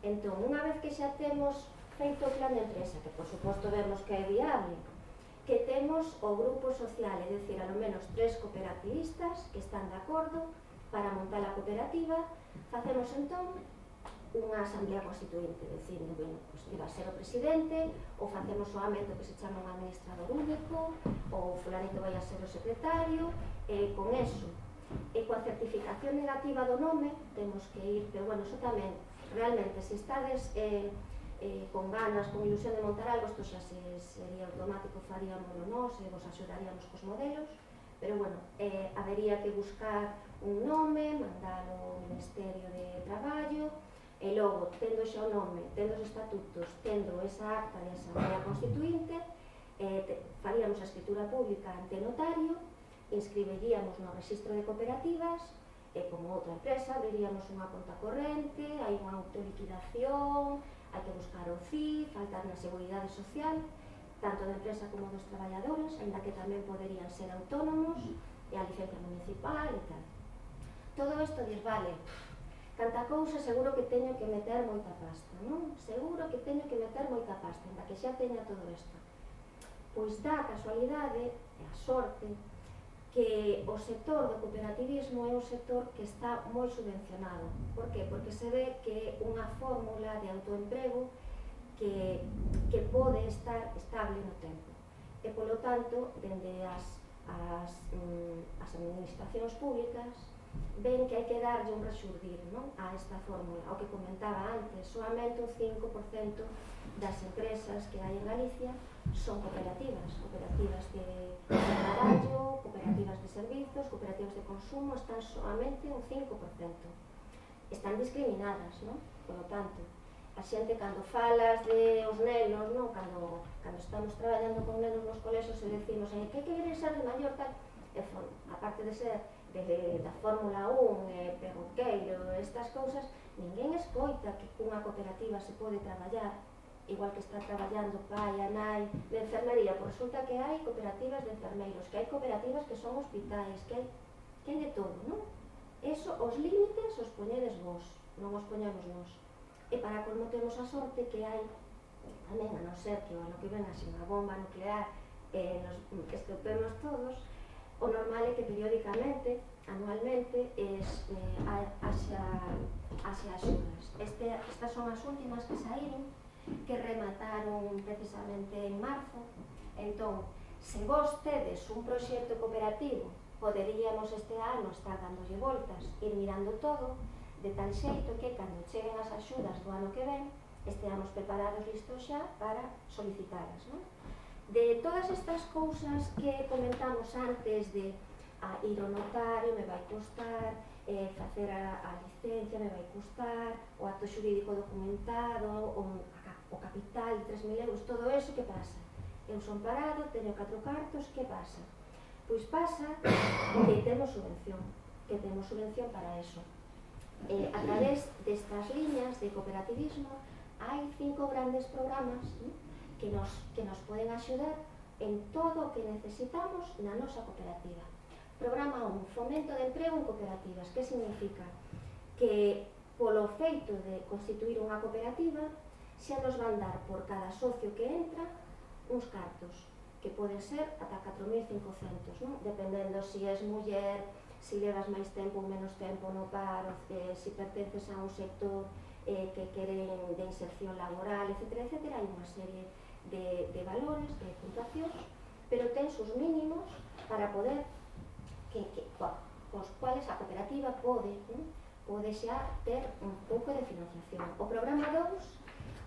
Entón, unha vez que xa temos feito o plan de empresa, que por suposto vemos que é viable, que temos o grupo social, é dicir, a lo menos tres cooperativistas que están de acordo para montar a cooperativa, facemos entón unha asamblea constituinte, dicindo, bueno, pues, que va a ser o presidente, ou facemos o ámbito que se chama un administrador único, ou fulanito vai a ser o secretario, e con eso, e coa certificación negativa do nome, temos que ir, pero bueno, eso tamén, realmente, se estades eh, eh, con ganas, con ilusión de montar algo, isto xa se, sería automático, faríamoslo nós, e vos axudaríamos cos modelos, pero bueno, eh, habería que buscar un nome, mandalo ao Ministerio de Traballo, e logo, tendo xa o nome, tendo os estatutos, tendo esa acta de asamblea constituinte, eh, te, faríamos a escritura pública ante notario, inscribiríamos no registro de cooperativas, e como outra empresa, abriríamos unha conta corrente, hai unha autoliquidación, hai que buscar o C I, faltar na seguridade social, tanto da empresa como dos traballadores, ainda que tamén poderían ser autónomos, e a licencia municipal e tal. Todo isto dir, vale, canta cousa, seguro que teño que meter moita pasta, non? Seguro que teño que meter moita pasta, ainda que xa teña todo isto. Pois dá a casualidade, e a sorte, que o sector do cooperativismo é un sector que está moi subvencionado. Por que? Porque se ve que é unha fórmula de autoemprego que, que pode estar estable no tempo. E, polo tanto, dende as, as, mm, as administracións públicas, ven que hai que darlle un rexurdir, non? A esta fórmula. O que comentaba antes, soamente un cinco por cento das empresas que hai en Galicia son cooperativas, cooperativas de, de traballo, cooperativas de servizos, cooperativas de consumo, están soamente un cinco por cento. Están discriminadas, non? Por lo tanto, a xente cando falas de os nenos, non? Cando, cando estamos traballando con nenos nos colexios e decimos, eh, que queres ser de maior tal? E, aparte de ser de, da Fórmula un, eh, perroqueiro, estas cousas, ninguén escoita que cunha cooperativa se pode traballar igual que está traballando pai, a nai, de enfermería, pois resulta que hai cooperativas de enfermeiros, que hai cooperativas que son hospitais, que hai, que hai de todo, non? Eso, os límites os poñedes vos, non os poñemos nós. E para colmo temos a sorte que hai, tamén a non ser que o ano que ven así unha bomba nuclear e nos estropemos todos, o normal é que periódicamente, anualmente, es, eh, haxa, haxa axudas. Este, estas son as últimas que saíron, que remataron precisamente en marzo. Entón, se vos tedes un proxecto cooperativo, poderíamos este ano estar dándolle voltas, ir mirando todo, de tal xeito que cando cheguen as axudas do ano que ven, esteamos preparados listos xa para solicitalas, non? De todas estas cousas que comentamos antes de a ir ao notario me vai costar, eh, facer a, a licencia me vai costar, o acto xurídico documentado, o, a, o capital de tres mil euros, todo eso, que pasa? Eu son parado, teño catro cartos, que pasa? Pois pasa que temos subvención, que temos subvención para eso. Eh, a través destas liñas de cooperativismo hai cinco grandes programas, ¿no?, que, nos, que nos poden axudar en todo o que necesitamos na nosa cooperativa. Programa un, fomento de emprego en cooperativas. Que significa? Que polo feito de constituir unha cooperativa xa nos van dar por cada socio que entra uns cartos, que poden ser ata catro mil cincocentos, ¿no?, dependendo se és muller, se levas máis tempo ou menos tempo no paro, eh, se pertences a un sector eh, que queren de inserción laboral, etcétera, etcétera. Hai unha serie de, de valores, de puntuacións, pero ten sus mínimos para poder, que, que, cos cuales a cooperativa pode, ¿no?, pode xa ter un pouco de financiación. O programa dous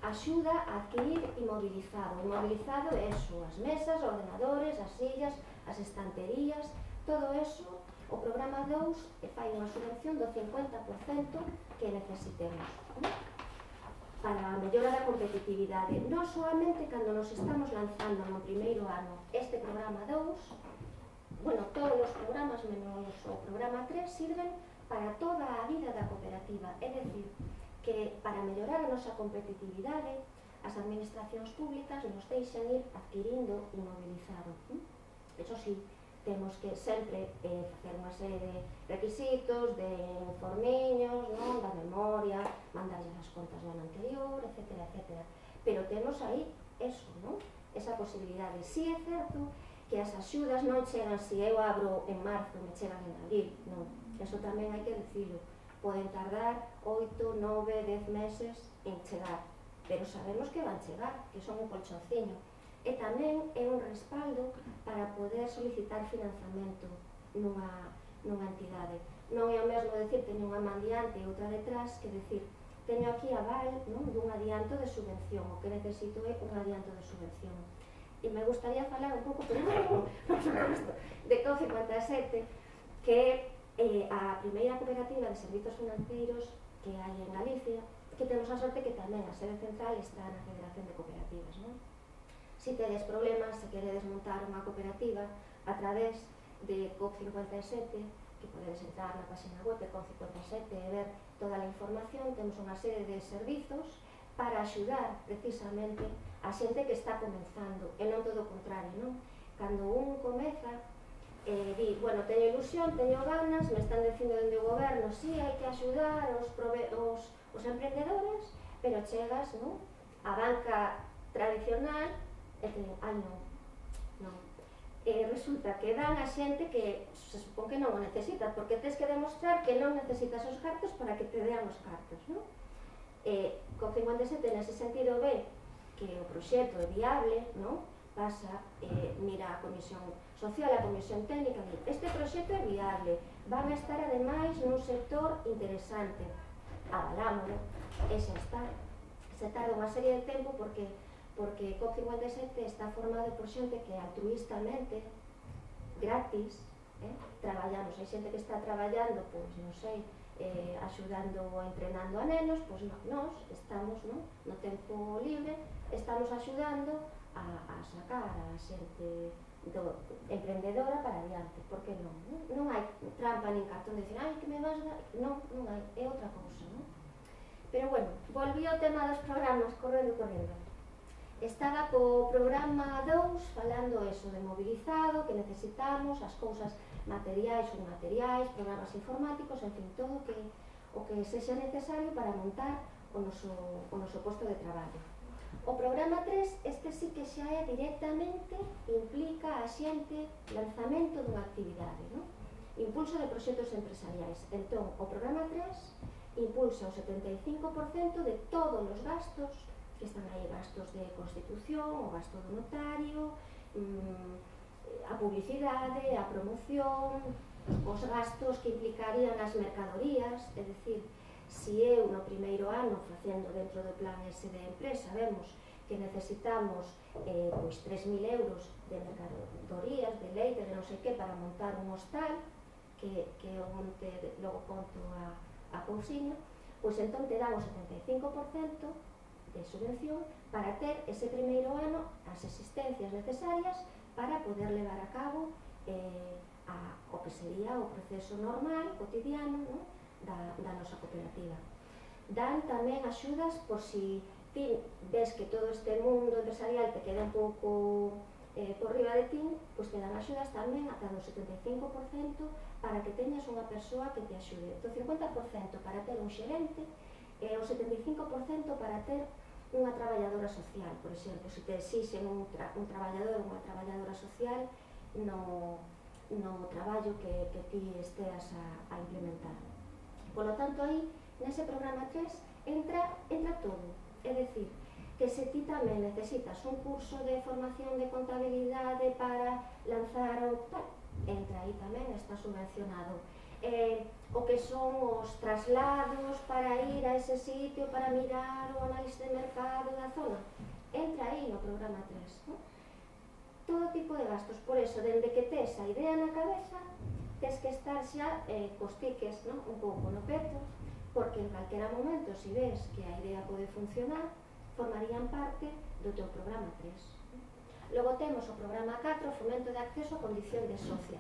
axuda a adquirir inmobilizado. Inmobilizado é eso, as mesas, os ordenadores, as sillas, as estanterías, todo eso. O programa dous fai unha subvención do cincuenta por cento que necesitemos, ¿no?, para a mellora da competitividade. Non solamente cando nos estamos lanzando no primeiro ano este programa dous, bueno, todos os programas menos o programa tres sirven para toda a vida da cooperativa, é dicir, que para mellorar a nosa competitividade as administracións públicas nos deixan ir adquirindo inmobilizado. Eso sí, temos que sempre eh, facer unha serie de requisitos, de informiños, non, da memoria, mandarlle as contas do ano anterior, etcétera, etcétera. Pero temos aí eso, non? Esa posibilidade. Si é certo que as axudas non chegan, se eu abro en marzo, me chegan en abril, non. Eso tamén hai que dicilo. Poden tardar oito, nove, dez meses en chegar, pero sabemos que van chegar, que son un colchonciño. E tamén é un respaldo para poder solicitar financiamento nunha, nunha entidade. Non é o mesmo decir teño unha man diante e outra detrás, que decir teño aquí aval, non, dun adianto de subvención, o que necesito é un adianto de subvención. E me gustaría falar un pouco, pero non, por suposto, de C O cincuenta e sete, que é eh, a primeira cooperativa de servizos financeiros que hai en Galicia, que temos a sorte que tamén a sede central está na Federación de Cooperativas, non? Se tedes problemas, se queredes montar unha cooperativa a través de C O cincuenta e sete, que podedes entrar na página web de C O cincuenta e sete e ver toda a información, temos unha serie de servizos para axudar precisamente a xente que está comenzando, e non todo o contrario, non? Cando un comeza, eh, di, bueno, teño ilusión, teño ganas, me están dicindo dende o goberno, si, sí, hai que axudar os, os, os emprendedores, pero chegas, non, a banca tradicional e te digo, ai non, non. E resulta que dan a xente que se supón que non o necesitas, porque tens que demostrar que non necesitas os cartos para que te dean os cartos, non? E C O cincuenta e sete nese sentido ve que o proxecto é viable, non? Pasa, eh, mira a Comisión Social, a Comisión Técnica, di, este proxecto é viable, van a estar ademais nun sector interesante, avalámoslo, e xa está. Se tarda unha serie de tempo porque porque C O cincuenta e sete está formado por xente que altruistamente, gratis, eh, traballamos. Hai xente que está traballando, pois, non sei, eh, axudando ou entrenando a nenos, pois no, nós estamos, no, no tempo libre, estamos axudando a, a sacar a xente do, emprendedora para adiante, porque non, non, non hai trampa nin cartón de decir, ai, que me vas dar, non, non hai, é outra cousa, non? Pero bueno, volví ao tema dos programas, correndo, correndo. Estaba co programa dous falando eso de mobilizado, que necesitamos, as cousas materiais ou materiais, programas informáticos, en fin, todo o que, o que sexa necesario para montar o noso, o noso posto de traballo. O programa tres, este sí que xa é directamente, implica a xente lanzamento dunha actividade, non? Impulso de proxectos empresariais. Entón, o programa tres impulsa o setenta e cinco por cento de todos os gastos que están aí, gastos de constitución, o gasto do notario, mmm, a publicidade, a promoción, os gastos que implicarían as mercadorías, é dicir, se eu no primeiro ano facendo dentro do plan ese de empresa vemos que necesitamos eh, pois tres mil euros de mercadorías, de leite, de non sei que, para montar un hostal, que, que onte logo conto a, a cousiña, pois entón te dan o setenta e cinco por cento de subvención para ter ese primeiro ano as existencias necesarias para poder levar a cabo eh, a, o que sería o proceso normal, cotidiano, ¿no? da, da nosa cooperativa. Dan tamén axudas por si ti ves que todo este mundo empresarial te queda un pouco eh, por riba de ti, pois te dan axudas tamén ata do setenta e cinco por cento para que teñas unha persoa que te axude. Do cincuenta por cento para ter un xerente e o setenta e cinco por cento para ter unha traballadora social. Por exemplo, se te exixen un, tra un traballador ou unha traballadora social no, no traballo que, que ti esteas a, a implementar. Por lo tanto, aí, nese programa tres, entra, entra todo. É dicir, que se ti tamén necesitas un curso de formación de contabilidade para lanzar o tal, entra aí tamén, está subvencionado. Eh, o que son os traslados para ir a ese sitio para mirar o análisis de mercado da zona, entra aí no programa tres, ¿no? Todo tipo de gastos, por eso, dende que tes a idea na cabeza, tes que estar xa eh, cos tiques, ¿no? Un pouco no peto, porque en calquera momento, se ves que a idea pode funcionar, formarían parte do teu programa tres. Logo temos o programa catro, fomento de acceso a condición de socia.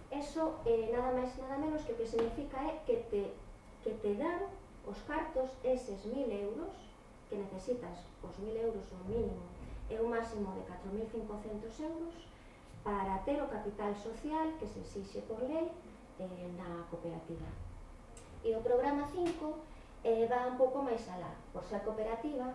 Eso, eh, nada máis nada menos que o que significa é que te, que te dan os cartos eses mil euros, que necesitas os mil euros o mínimo e un máximo de catro mil cincocentos euros para ter o capital social que se exixe por lei eh, na cooperativa. E o programa cinco eh, va un pouco máis alá. Por ser cooperativa,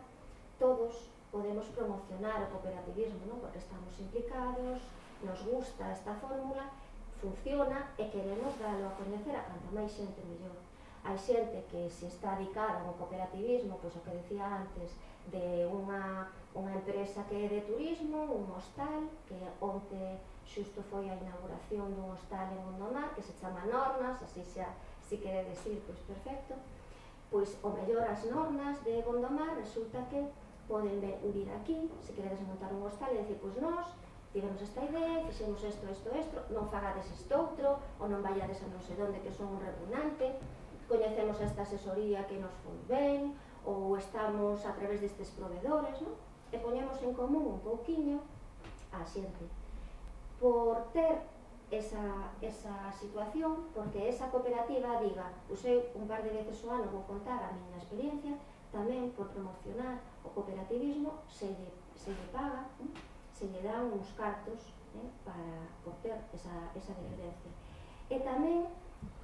todos podemos promocionar o cooperativismo, ¿no? Porque estamos implicados, nos gusta esta fórmula, funciona e queremos dalo a coñecer a canta máis xente mellor. Hai xente que se está dedicada ao cooperativismo, pois o que decía antes, de unha, unha empresa que é de turismo, un hostal, que onte xusto foi a inauguración dun hostal en Gondomar, que se chama Nornas, así xa, si queredes ir, pois perfecto. Pois o mellor as Nornas de Gondomar resulta que poden vir aquí, se queredes montar un hostal e dicir, pois nós tivemos esta idea, fixemos isto, isto, isto, non fagades isto outro, ou non vayades a non sei onde que son un repugnante, coñecemos esta asesoría que nos foi ben, ou estamos a través destes proveedores, non? E poñemos en común un pouquiño a xente. Por ter esa, esa situación, porque esa cooperativa diga, pois eu un par de veces o ano vou contar a miña experiencia, tamén por promocionar o cooperativismo se lle, se lle paga, non? Se lle dan uns cartos eh, para por ter esa, esa referencia. E tamén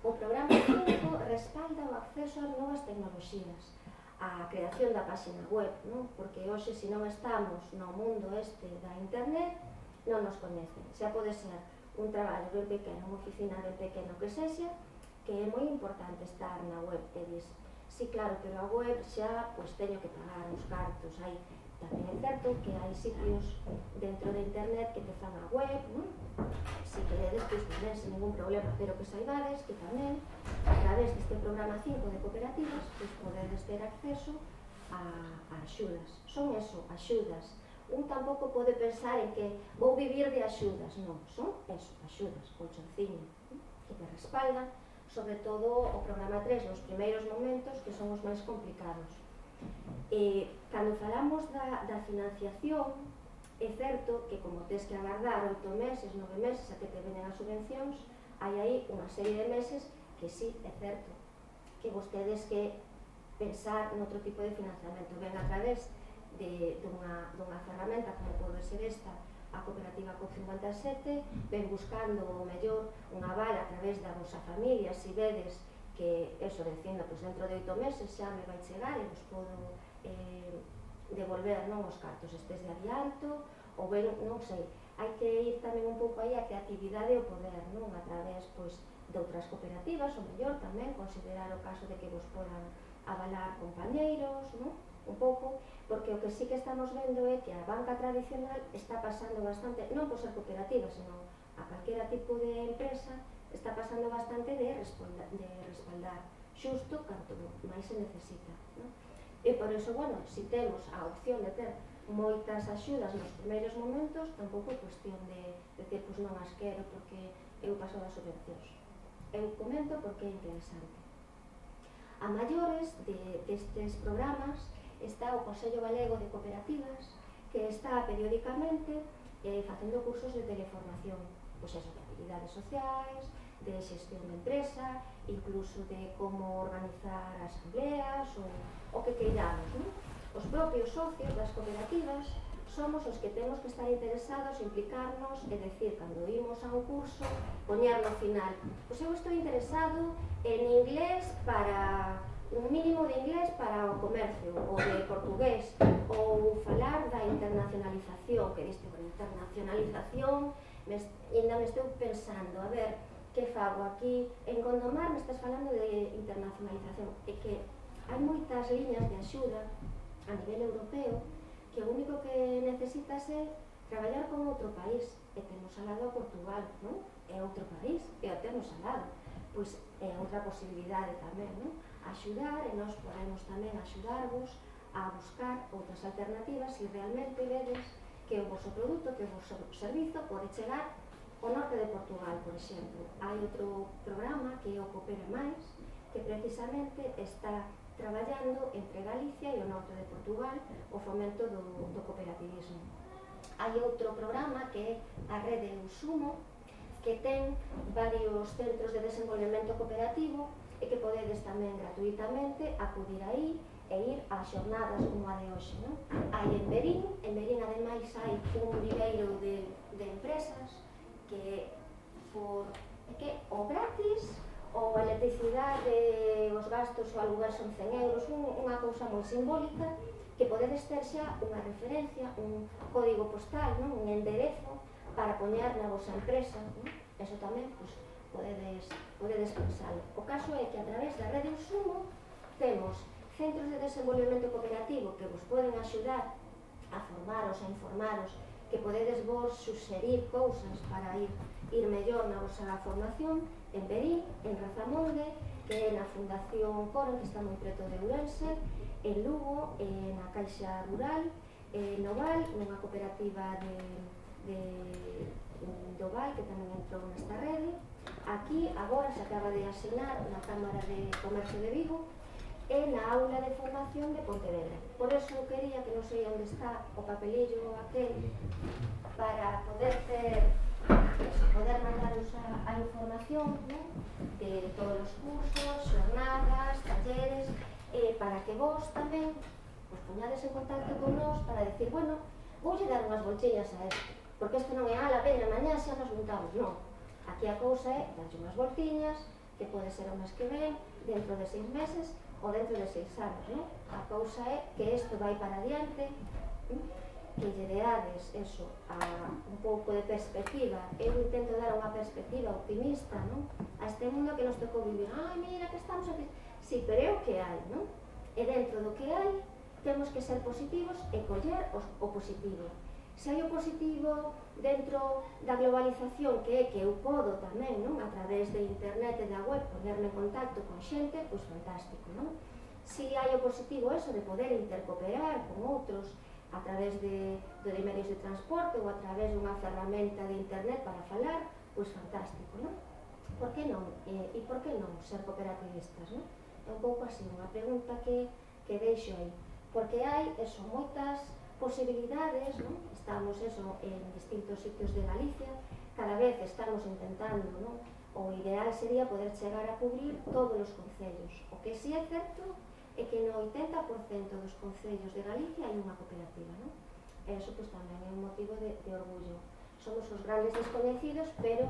o programa cinco respalda o acceso ás novas tecnoloxías, a creación da página web, non? Porque hoxe, se non estamos no mundo este da internet, non nos coñecen. Xa pode ser un traballo ben pequeno, unha oficina ben pequeno que sexa, que é moi importante estar na web. E dis, sí, claro, pero a web xa, pois teño que pagar uns cartos, hai. Tamén é certo que hai sitios dentro de internet que te fan a web, non? Se queredes, pois non sen ningún problema, pero que saibades que tamén, a través deste programa cinco de cooperativas, pois podedes ter acceso a, a axudas. Son eso, axudas. Un tampouco pode pensar en que vou vivir de axudas, non, son eso, axudas, colchonciño, que te respaldan, sobre todo o programa tres nos primeiros momentos, que son os máis complicados. E, cando falamos da, da financiación, é certo que como tes que agardar oito meses, nove meses a que te venen as subvencións, hai aí unha serie de meses que sí, é certo, que vostedes que pensar noutro tipo de financiamento, ven a través de, dunha, dunha ferramenta como pode ser esta, a cooperativa C O P cincuenta e sete, ven buscando o mellor unha aval a través da vosa familia, se vedes que, eso, dicindo, pues dentro de oito meses xa me vai chegar e vos podo eh, devolver, non, os cartos estes de adianto, ou ben, non sei, hai que ir tamén un pouco aí a creatividade e o poder, non, a través, pois, de outras cooperativas, o mellor tamén, considerar o caso de que vos podan avalar compañeiros, non, un pouco, porque o que sí que estamos vendo é que a banca tradicional está pasando bastante, non por ser cooperativa, senón a calquera tipo de empresa, está pasando bastante de respaldar, de respaldar xusto canto máis se necesita, non? E por iso, bueno, si temos a opción de ter moitas axudas nos primeiros momentos, tampouco é cuestión de decir, pois non as quero porque eu paso das subvencións. Eu comento porque é interesante. A maiores de, destes programas está o Consello Galego de Cooperativas, que está periódicamente eh, facendo cursos de teleformación, pois eso, de habilidades sociais, de xestión de empresa, incluso de como organizar asambleas ou o que queiramos, non? Os propios socios das cooperativas somos os que temos que estar interesados, implicarnos, é dicir, cando imos a un curso, poñer no final, pois eu estou interesado en inglés para un mínimo de inglés para o comercio, ou de portugués, ou falar da internacionalización, que diste con internacionalización, me, ainda me estou pensando, a ver, que fago aquí? En Gondomar me estás falando de internacionalización, e que hai moitas liñas de axuda a nivel europeo que o único que necesitas é traballar con outro país, e temos al lado a Portugal, non? É outro país, e o temos al lado, pois é outra posibilidade tamén, non? Axudar, e nós podemos tamén axudarvos a buscar outras alternativas se realmente vedes que o vosso produto, que o vosso servizo pode chegar ao norte de Portugal, por exemplo. Hai outro programa que é o Coopera Máis, que precisamente está traballando entre Galicia e o norte de Portugal o fomento do, do cooperativismo. Hai outro programa que é a Rede Eusumo, que ten varios centros de desenvolvemento cooperativo e que podedes tamén gratuitamente acudir aí e ir a xornadas como a de hoxe, non? Hai en Verín, en Verín ademais hai un viveiro de, de empresas que por que o gratis ou a electricidade, os gastos ou alugar son cen euros, un, unha cousa moi simbólica que podedes ter xa unha referencia, un código postal, non? Un enderezo para poñer na vosa empresa, non? Eso tamén, pois, podedes, podedes pensalo. O caso é que a través da Rede Eusumo temos centros de desenvolvemento cooperativo que vos poden axudar a formaros, a informaros, que podedes vos suxerir cousas para ir, ir mellor na vosa formación, en Verín, en Razamonde, que é na Fundación Coren, que está moi preto de Ourense, en Lugo, na Caixa Rural, en Oval, nunha cooperativa de, de, de Oval, que tamén entrou nesta rede. Aquí, agora, se acaba de asinar na Cámara de Comercio de Vigo, e na aula de formación de Pontevedra. Por eso quería, que non sei onde está o papelillo aquel, para poder ter, poder mandaros a, a información, ¿no? De todos os cursos, xornadas, talleres, eh, para que vos tamén pues, poñades en contacto con nós para decir, bueno, voulle dar unhas voltiñas a isto, porque isto non é, ala, veña, mañá xa nos juntamos, non. Aquí a cousa é darlle unhas voltiñas, que pode ser o mes que ven, dentro de seis meses, ou dentro de seis anos, non? A cousa é que isto vai para adiante, que lle deades eso, a un pouco de perspectiva. Eu intento dar unha perspectiva optimista, non? A este mundo que nos tocou vivir. Ai, mira, que estamos aquí. Sí, pero é o que hai, non? E dentro do que hai, temos que ser positivos e coller o positivo. Se hai o positivo dentro da globalización, que é que eu podo tamén, non? A través de internet e da web, ponerme en contacto con xente, pois fantástico, non? Se hai o positivo eso de poder intercooperar con outros a través de, de medios de transporte ou a través dunha ferramenta de internet para falar, pois fantástico, non? Por que non? E, e por que non ser cooperativistas, non? É un pouco así, unha pregunta que, que deixo aí. Porque hai, eso, moitas posibilidades, non? Estamos, eso, en distintos sitios de Galicia, cada vez estamos intentando, non? O ideal sería poder chegar a cubrir todos os concellos. O que si é certo é que no oitenta por cento dos concellos de Galicia hai unha cooperativa, non? E iso, pois, tamén é un motivo de, de orgullo. Somos os grandes desconhecidos, pero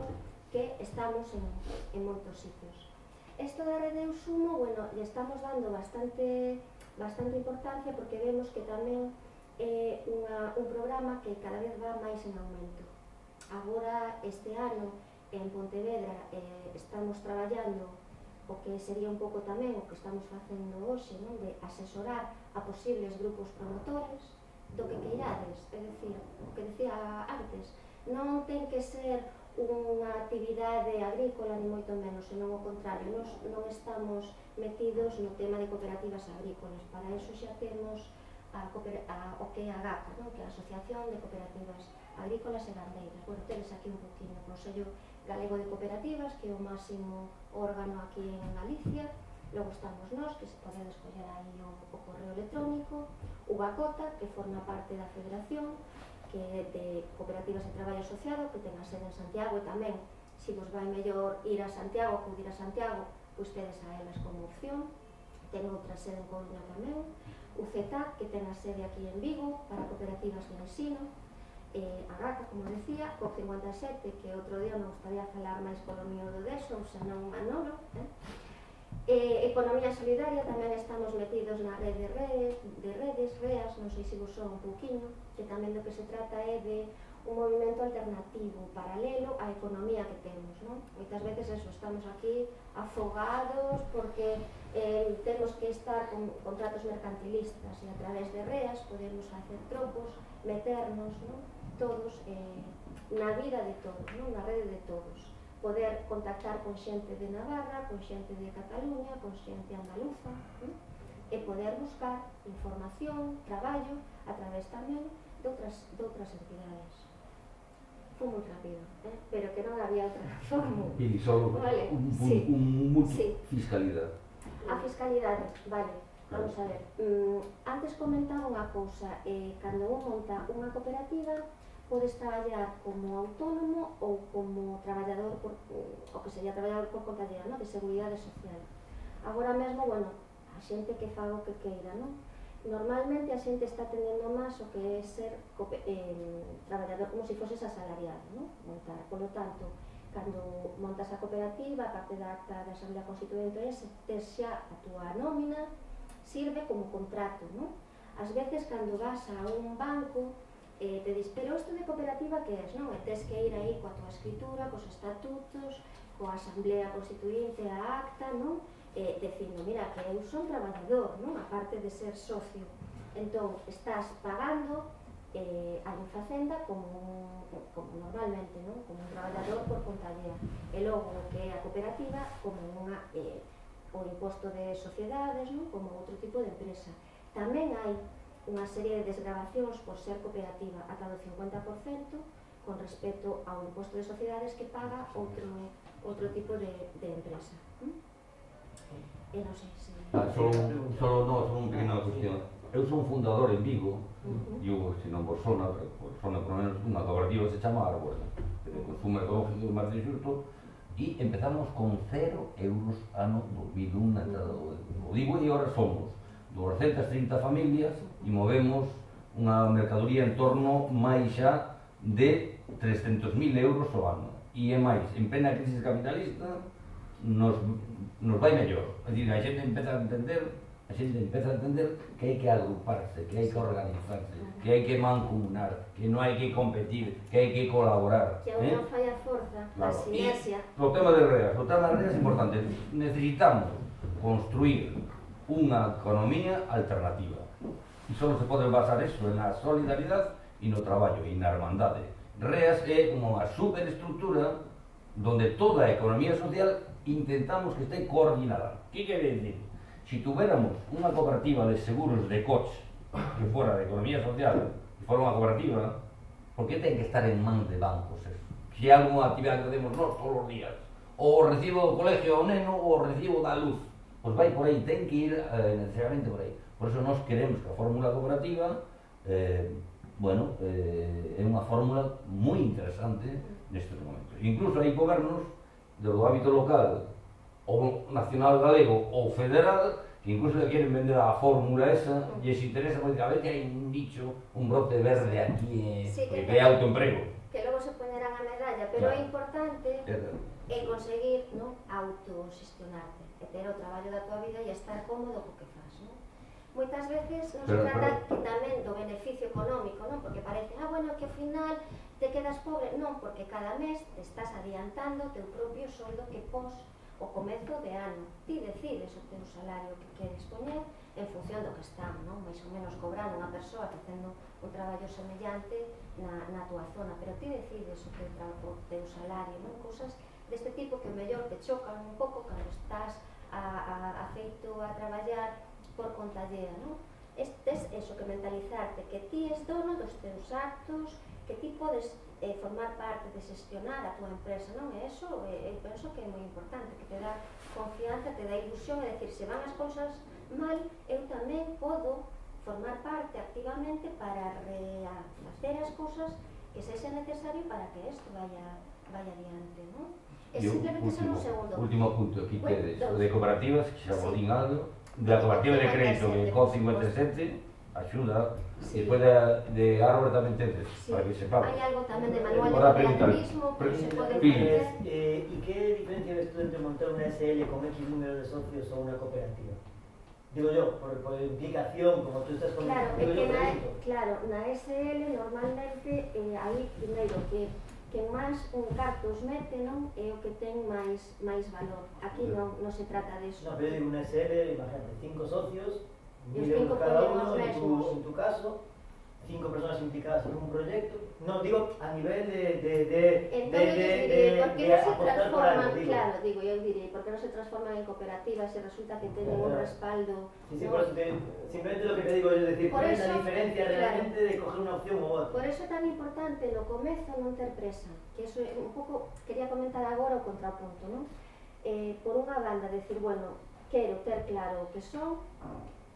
que estamos en, en moitos sitios. Isto da Rede Eusumo, bueno, lle estamos dando bastante, bastante importancia porque vemos que tamén é unha, un programa que cada vez va máis en aumento. Agora, este ano, en Pontevedra, eh, estamos traballando o que sería un pouco tamén o que estamos facendo hoxe, non? De asesorar a posibles grupos promotores do que queirades, é dicir, o que decía antes, non ten que ser unha actividade agrícola ni moito menos, senón o contrario, nos non estamos metidos no tema de cooperativas agrícolas, para eso xa temos a, a, o que é a GACA, non? Que é a Asociación de Cooperativas Agrícolas e Gandeiras. Bueno, tedes aquí un poquinho o Consello Galego de Cooperativas, que é o máximo órgano aquí en Galicia. Logo estamos nós, que se pode escoller aí o, o correo electrónico, UBACOTA, que forma parte da Federación, que é de Cooperativas de Traballo Asociado, que ten a sede en Santiago, e tamén, se vos vai mellor ir a Santiago, acudir a Santiago, pois tedes a elas como opción. Ten outra sede en Coruña tamén, U C T A C, que ten a sede aquí en Vigo, para cooperativas de ensino, eh, a GACA, como decía, C O P cincuenta e sete, que outro día me gustaría falar máis polo mío do deso, ou senón Manolo, eh? Eh, Economía Solidaria, tamén estamos metidos na rede de redes, de redes, REAS, non sei se vos son un pouquiño, que tamén do que se trata é de un movimento alternativo, paralelo á economía que temos, non? Moitas veces eso, estamos aquí afogados porque eh, temos que estar con contratos mercantilistas e a través de REAS podemos hacer trocos, meternos, non? Todos eh, na vida de todos, non? Na rede de todos. Poder contactar con xente de Navarra, con xente de Cataluña, con xente andaluza, ¿no? E poder buscar información, traballo, a través tamén de outras, de outras entidades. Foi moi rápido, ¿eh? Pero que non había outra fórmula. E só vale. un, un, sí. un mucho sí. fiscalidade. A fiscalidade, vale, vamos a ver. Mm, antes comentaba unha cousa, eh, cando un monta unha cooperativa, podes traballar como autónomo ou como traballador, por, o que sería traballador por conta llena, ¿no? De seguridade social. Agora mesmo, bueno, a xente que faga o que queira, ¿no? Normalmente a xente está tendendo máis o que é ser eh, traballador como se foses asalariado, ¿no? Montar. Por lo tanto, cando montas a cooperativa, a parte da acta da Asamblea Constituinte, tes xa a túa nómina, sirve como contrato, ¿no? Ás veces, cando vas a un banco, Eh, te dis, pero isto de cooperativa que é, non? E tes que ir aí coa tua escritura, cos estatutos, coa asamblea constituinte, a acta, non? Eh, dicindo, mira, que eu son traballador, non? A parte de ser socio. Entón, estás pagando eh, a Infacenda como, como normalmente, non? Como un traballador por conta allea. E logo, que é a cooperativa, como unha, eh, o imposto de sociedades, non? Como outro tipo de empresa. Tamén hai unha serie de desgravacións por ser cooperativa ata do cincuenta por cento con respecto ao imposto de sociedades que paga outro, outro tipo de, de empresa. ¿Mm? E non sei se... Ah, solo, solo no, solo un pequena cuestión. Eu son fundador en Vigo, uh-huh. e eu, se non vos sona, vos sona por menos unha cooperativa que se chama Árbol, de consumo ecológico máis de xusto, e empezamos con cero euros ano dos mil un na entrada do Vigo, e agora somos doscientas trinta familias e movemos unha mercadoría en torno máis xa de trescentos mil euros ao ano. E é máis, en plena crisis capitalista nos, nos vai mellor. É dicir, a xente empeza a entender, a xente empeza a entender que hai que agruparse, que hai que organizarse, que hai que mancomunar, que non hai que competir, que hai que colaborar. Que a unha eh? falla forza, claro. A sinergia. E o tema de REAS, o tema de REAS é importante. Necesitamos construir unha economía alternativa. E só se pode basar eso na solidaridade e no traballo e na hermandade. REAS é como unha superestructura donde toda a economía social intentamos que este coordinada. Que quere decir? Se tuviéramos unha cooperativa de seguros de coche que fora de economía social e fora unha cooperativa, por que ten que estar en mans de bancos eso? Se hai alguna actividade que temos nós todos os días, ou o recibo do colegio ao neno ou o recibo da luz, pois vai por aí, ten que ir eh, necesariamente por aí. Por eso nós queremos que a fórmula cooperativa eh, bueno, eh, é unha fórmula moi interesante nestes momentos. Incluso hai gobernos do hábito local ou nacional galego ou federal que incluso le queren vender a fórmula esa e se interesa porque a ver que hai un dicho, un brote verde aquí eh, sí, que, que é autoemprego. Que logo se poñerán a medalla, pero claro. É importante é conseguir, ¿no? Autogestionarte, e ter o traballo da tua vida e estar cómodo co que faz, ¿no? Moitas veces non se trata que tamén do beneficio económico, non? Porque parece, ah, bueno, que ao final te quedas pobre. Non, porque cada mes te estás adiantando o teu propio soldo que pos o comezo de ano. Ti decides o teu salario que queres poñer en función do que está, non? Mais ou menos cobrando unha persoa facendo un traballo semellante na, na tua zona, pero ti decides o teu, o teu salario, non? Cousas deste tipo que o mellor te chocan un pouco cando estás a, a, a feito a traballar por conta allea, non? Tes eso, que mentalizarte que ti es dono dos teus actos, que ti podes eh, formar parte de xestionar a túa empresa, non? E eso, eh, eu penso que é moi importante, que te dá confianza, te dá ilusión, é dicir, se van as cousas mal, eu tamén podo formar parte activamente para rehacer as cousas que sexa necesario para que isto vaya, vaya adiante, non? É simplemente ser un segundo. Último punto, aquí bueno, tedes, o de cooperativas, que xa vos sí. din algo, de la cooperativa de crédito, que con cincuenta y siete, axuda, sí. E despois de, de árbore tamén tedes, sí. para que sepamos. Hai algo tamén de manual de Ahora preguntar, cooperativismo, que se pode Pili. facer. Eh, ¿Y qué diferencia ves tú entre montar una S L con X número de socios o una cooperativa? Digo yo, por, por implicación, como tú estás con Claro, é digo que yo, na, pregunto. claro, na S L normalmente eh, aí primeiro que que máis un cartos mete, non? É o que ten máis máis valor. Aquí non, non se trata de eso. No, pero digo una S L, imagínate, cinco socios, Y os mil euros cinco cada ponen uno, los en tu, mesmos. en tu caso, cinco personas implicadas en un proyecto. No, digo a nivel de, de, de, Entón, de, eu de, direi, de, por que de non se apostar por transforman, algo, digo. claro, digo, eu direi, por que non se transforman en cooperativas se resulta que teñen un Claro. respaldo, Sí, sí, non? por eso te, simplemente lo que te digo es decir, Por cuál es la eso, diferencia claro. realmente de coger una opción u otra. Por eso é tan importante no comezo non ter presa, que eso é un pouco, quería comentar agora o contrapunto, non? Eh, por unha banda, decir, bueno, quero ter claro o que son,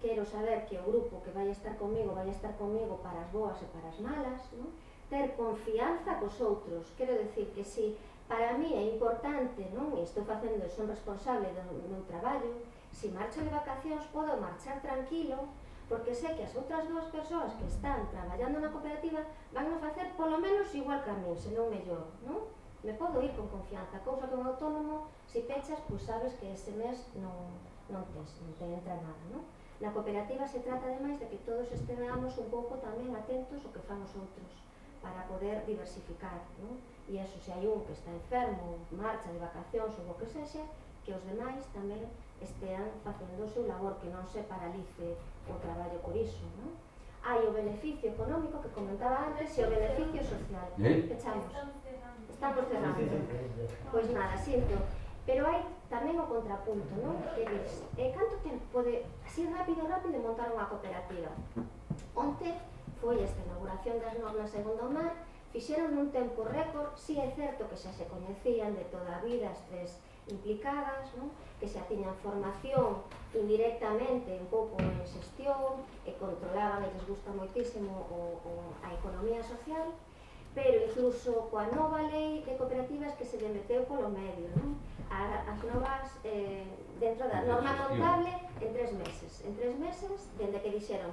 quero saber que o grupo que vai estar comigo vai estar comigo para as boas e para as malas, non? Ter confianza cos outros, quero decir que si para mí é importante, non? E estou facendo, son responsable do meu traballo, si marcho de vacacións podo marchar tranquilo, porque sei que as outras dúas persoas que están traballando na cooperativa van a facer polo menos igual que a mí, senón mellor, non? Me podo ir con confianza, cousa que un autónomo, se pechas, pois sabes que ese mes non, non, tes, non te entra nada, non? Na cooperativa se trata ademais de que todos estemos un pouco tamén atentos ao que fan os outros, para poder diversificar, non? E eso, se hai un que está enfermo, marcha de vacacións ou o que sexa, que os demais tamén estean facendo o seu labor, que non se paralice o traballo por iso, non? Hai o beneficio económico que comentaba antes e o beneficio social. ¿Eh? Pechamos. Estamos cerrando. Sí, sí, sí, sí. Pois nada, sinto. Pero hai tamén o contrapunto, non? Que dis, eh, canto tempo pode, así rápido, rápido, montar unha cooperativa? Onte foi esta inauguración das normas en Gondomar, fixeron nun tempo récord, si é certo que xa se coñecían de toda a vida as tres implicadas, non? Que xa tiñan formación indirectamente un pouco en xestión e controlaban e les gusta moitísimo o, o, a economía social, pero incluso coa nova lei de cooperativas que se lle meteu polo medio, non? A, as novas, eh, dentro da norma contable, en tres meses. En tres meses, dende que dixeron,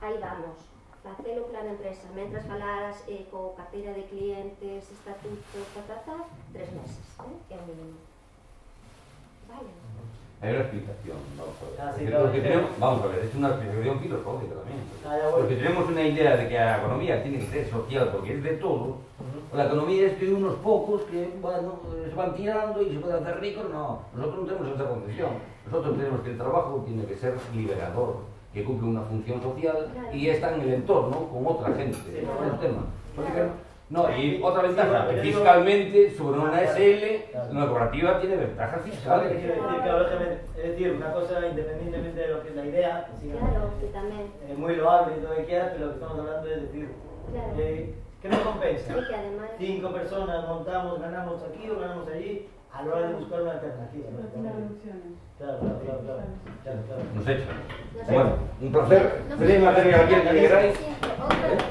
aí vamos, facelo plan empresa, mentras falaras eh, co carteira de clientes, estatuto, ta, ta, ta, tres meses, eh? É o mínimo. Vale. Hay una explicación, vamos a ver. Ah, sí, Porque claro, porque sí. tenemos, vamos a ver, es una explicación filosófica también. Ah, ya voy. Porque tenemos una idea de que la economía tiene que ser social, porque es de todo. Ujú. La economía es de unos pocos que, bueno, se van tirando y se pueden hacer ricos. No, nosotros no tenemos esa concepción. Nosotros tenemos que el trabajo tiene que ser liberador, que cumple una función social Claro. y está en el entorno con otra gente. Sí, Ese es claro. el tema. Porque, Claro. no, y otra Sí, ventaja, pero que digo- fiscalmente sobre una Claro, S L, claro. una cooperativa tiene ventajas ¿Sabes qué fiscales. quiero decir? Claro, lógicamente, es decir, una cosa independientemente de lo que es la idea, que sí, Claro, que tamén. es muy loable y todo lo que quieras, pero lo que estamos hablando es decir, Claro. eh, ¿qué nos compensa? E que ademais... Cinco personas montamos, ganamos aquí o ganamos allí, a la hora de buscar una alternativa. ¿no? Claro, claro, claro, claro, claro, claro. Nos echan. Nos Bueno, echan. un placer. No Tenéis sé, material aquí que queráis. sí, outra vez,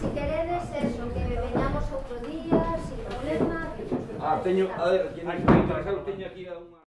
si queredes eso, que veñamos outro día, sin problema. Ah, teño, a ver, quien está interesado, teño aquí a unha...